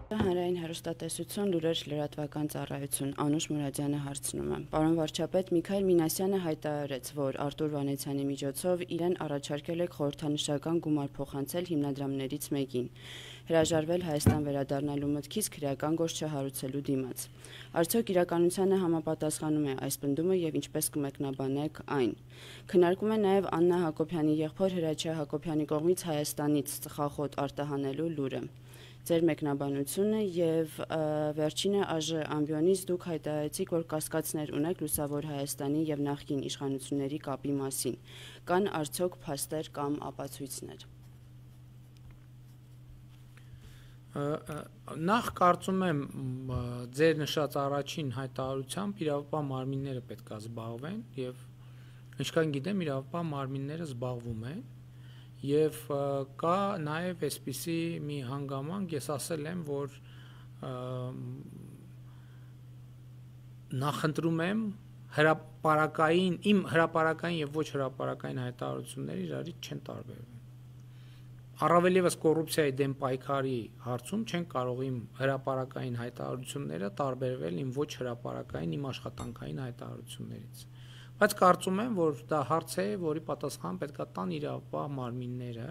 Հանրային հեռուստատեսություն, լուրեր, լրատվական ծառայություն, Անուշ Մուրադյանը հարցնում է. Պարոն վարչապետ, Միքայել Մինասյանը հայտարարեց, որ Արտուր Վանեցյանի միջոցով իրեն առաջարկել եք խորհրդանշական գումար փոխանցել հիմնադրամներից մեկին, հրաժարվել Հայաստան վերադառնալու մտքից քրեական գործ չհարուցելու դիմաց։ Արդյոք իրականությանը համապատասխանում է այս պնդումը եւ ինչպես կմեկնաբանեք այն։ Քննարկում է նաեւ Աննա Հակոբյանի եղբոր Հրաչյա Հակոբյանի կողմից Հայաստանից ծխախոտ արտահանելու լուրը։ Ձեր մեկնաբանությունը եւ վերջինը ԱԺ ամբիոնից դուք հայտարարեցիք, որ կասկածներ ունեք Լուսավոր Հայաստանի եւ նախկին իշխանությունների կապի մասին։ Կան արդյոք փաստեր կամ ապացույցներ։ Նախ կարծում եմ ձեր նշած առաջին հայտարարությամբ իրավապահ մարմինները պետք է զբաղվեն եւ ինչքան գիտեմ իրավապահ մարմինները զբաղվում են եւ կա նաեւ այսպիսի մի հանգամանք, ես ասել եմ, որ նախընտրում եմ իմ հրապարակային եւ ոչ հրապարակային հայտարարությունները իրարից չեն տարբերվում։ Առավել եւս կոռուպցիայի դեմ պայքարի հարցում չեն կարող իմ հրապարակային հայտարարությունները տարբերվել իմ ոչ հրապարակային, իմ աշխատանքային հայտարարություններից։ Բայց կարծում եմ, որ դա հարց է, որի պատասխան պետք է տան իրավապահ մարմինները,